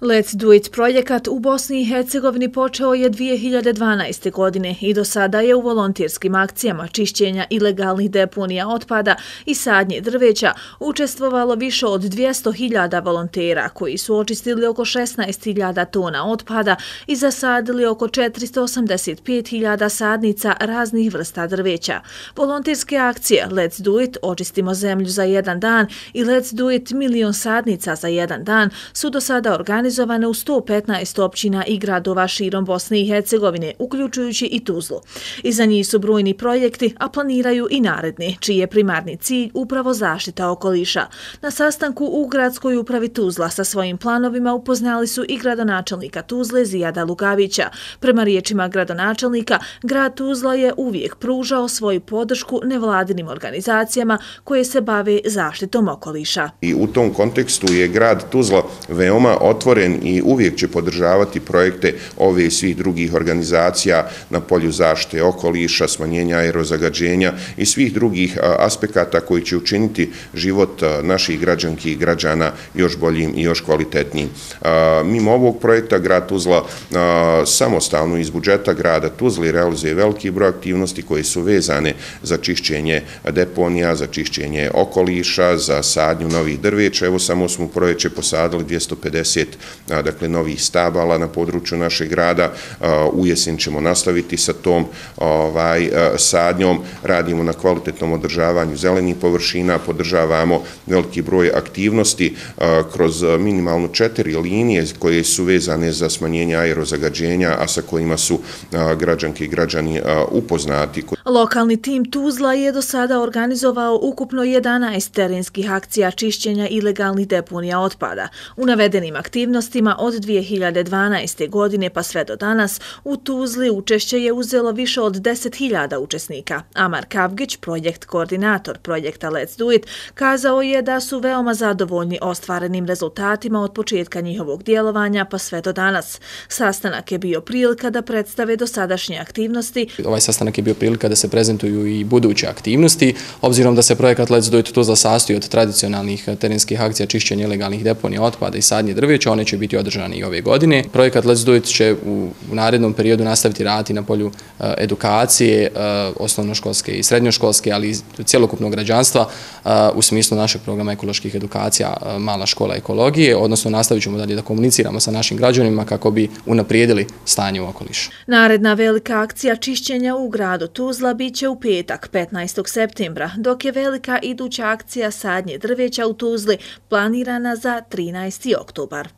Let's Do It projekat u Bosni i Hercegovini počeo je 2012. godine i do sada je u volonterskim akcijama čišćenja ilegalnih deponija otpada i sadnje drveća učestvovalo više od 200.000 volontera koji su očistili oko 16.000 tona otpada i zasadili oko 485.000 sadnica raznih vrsta drveća. Volonterske akcije Let's Do It, očistimo zemlju za jedan dan i Let's Do It, milion sadnica za jedan dan su do sada organizovane u 115 općina i gradova širom Bosne i Hercegovine, uključujući i Tuzlu. Iza njih su brojni projekti, a planiraju i naredni, čiji je primarni cilj upravo zaštita okoliša. Na sastanku u gradskoj upravi Tuzla sa svojim planovima upoznali su i gradonačelnika Tuzle Zijada Lugavića. Prema riječima gradonačelnika, grad Tuzla je uvijek pružao svoju podršku nevladinim organizacijama koje se bave zaštitom okoliša. I u tom kontekstu je grad Tuzla veoma otvoren i uvijek će podržavati projekte ove i svih drugih organizacija na polju zaštite okoliša, smanjenja aerozagađenja i svih drugih aspekata koji će učiniti život naših građanki i građana još boljim i još kvalitetnijim. Mimo ovog projekta grad Tuzla samostalno iz budžeta grada Tuzli realizuje veliki broj aktivnosti koje su vezane za čišćenje deponija, za čišćenje okoliša, za sadnju novih drveća. Evo samo smo u proljeće posadili 250 novih stabala na području našeg grada. U jesen ćemo nastaviti sa tom sadnjom. Radimo na kvalitetnom održavanju zelenih površina, podržavamo veliki broj aktivnosti kroz minimalno 4 linije koje su vezane za smanjenje aerozagađenja, a sa kojima su građanke i građani upoznati. Lokalni tim Tuzla je do sada organizovao ukupno 11 terenskih akcija čišćenja ilegalnih deponija otpada. U navedenim aktivnostima od 2012. godine pa sve do danas u Tuzli učešće je uzelo više od 10.000 učesnika. Amar Kavgić, projekt koordinator projekta Let's Do It, kazao je da su veoma zadovoljni ostvarenim rezultatima od početka njihovog djelovanja pa sve do danas. Sastanak je bio prilika da predstave dosadašnje aktivnosti. Ovaj sastanak je bio prilika da se prezentuju i buduće aktivnosti, obzirom da se projekat Let's Do It Tuzla sastoji od tradicionalnih terenskih akcija čišćenja ilegalnih deponija otpada i sadnje drveća, one će biti održane i ove godine. Projekat Let's Do It će u narednom periodu nastaviti raditi na polju edukacije, osnovnoškolske i srednjoškolske, ali i cjelokupnog građanstva u smislu našeg programa ekoloških edukacija Mala škola ekologije, odnosno nastavit ćemo dalje da komuniciramo sa našim građanima kako bi unaprijedili stanje u okolišu. Naredna velika akcija čišćenja u gradu Tuzla biće u petak 15. septembra, dok je velika iduća akcija sadnje drveća u Tuzli planirana za 13. oktobar.